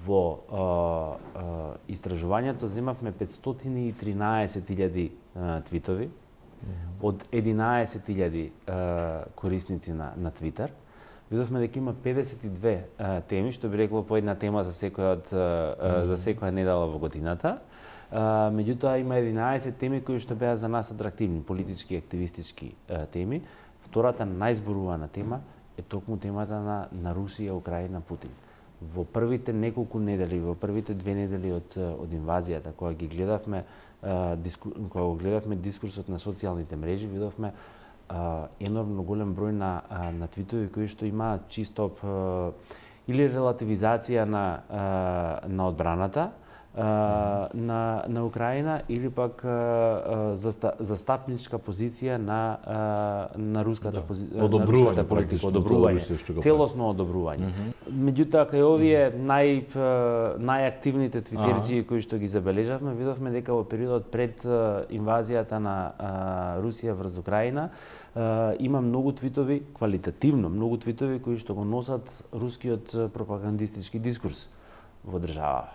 Во истражувањето земавме 513.000 твитови од 11.000 корисници на Твитер. Видовме дека има 52 теми, што би рекло по една тема за секоја недела во годината. Меѓутоа има 11 теми кои што беа за нас атрактивни, политички и активистички теми. Втората најзборувана тема е токму темата на Русија, Украина, Путин. Во првите неколку недели, во првите 2 недели од инвазијата, кога гледавме дискурсот на социјалните мрежи, видовме енормно голем број на твитови кои што имаат чисто или релативизација на одбраната на Украина или пак застапничка позиција на руската политика, одобрување, целосно одобрување. Меѓутоа кај овие најактивните твитерџи кои што ги забележавме, видовме дека во периодот пред инвазијата на Русија врз Украина има многу твитови, квалитативно многу твитови кои што го носат рускиот пропагандистички дискурс во државава.